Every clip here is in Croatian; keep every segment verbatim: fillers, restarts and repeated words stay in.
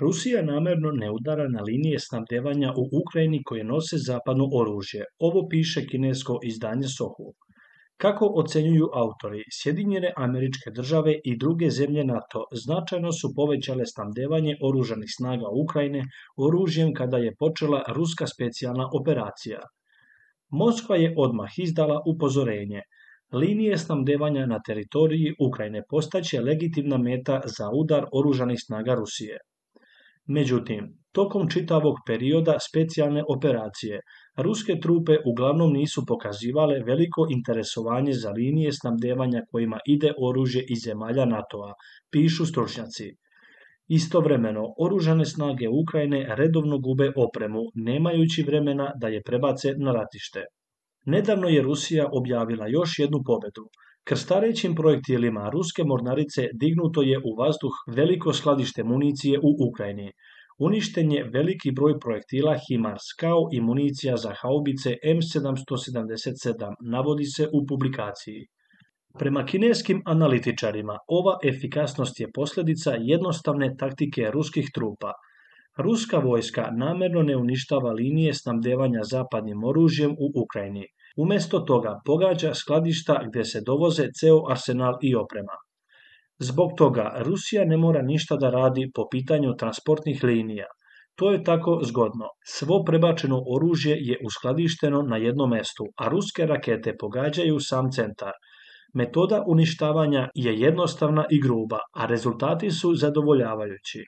Rusija namjerno ne udara na linije snabdevanja u Ukrajini koje nose zapadno oružje. Ovo piše kinesko izdanje Sohu. Kako ocenjuju autori, Sjedinjene Američke Države i druge zemlje NATO značajno su povećale snabdevanje oružanih snaga Ukrajine oružjem kada je počela ruska specijalna operacija. Moskva je odmah izdala upozorenje. Linije snabdevanja na teritoriji Ukrajine postaće legitimna meta za udar oružanih snaga Rusije. Međutim, tokom čitavog perioda specijalne operacije, ruske trupe uglavnom nisu pokazivale veliko interesovanje za linije snabdevanja kojima ide oružje iz zemalja NATO-a, pišu stručnjaci. Istovremeno, oružane snage Ukrajine redovno gube opremu, nemajući vremena da je prebace na ratište. Nedavno je Rusija objavila još jednu pobedu. Krstarećim projektilima ruske mornarice dignuto je u vazduh veliko skladište municije u Ukrajini. Uništen je veliki broj projektila HIMARS kao i municija za haubice M sedamsto sedamdeset sedam, navodi se u publikaciji. Prema kineskim analitičarima, ova efikasnost je posljedica jednostavne taktike ruskih trupa. Ruska vojska namjerno ne uništava linije snabdevanja zapadnim oružjem u Ukrajini. Umjesto toga pogađa skladišta gdje se dovoze ceo arsenal i oprema. Zbog toga Rusija ne mora ništa da radi po pitanju transportnih linija. To je tako zgodno. Svo prebačeno oružje je uskladišteno na jednom mestu, a ruske rakete pogađaju sam centar. Metoda uništavanja je jednostavna i gruba, a rezultati su zadovoljavajući.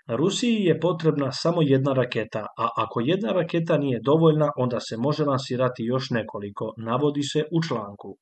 Rusiji je potrebna samo jedna raketa, a ako jedna raketa nije dovoljna, onda se može lansirati još nekoliko, navodi se u članku.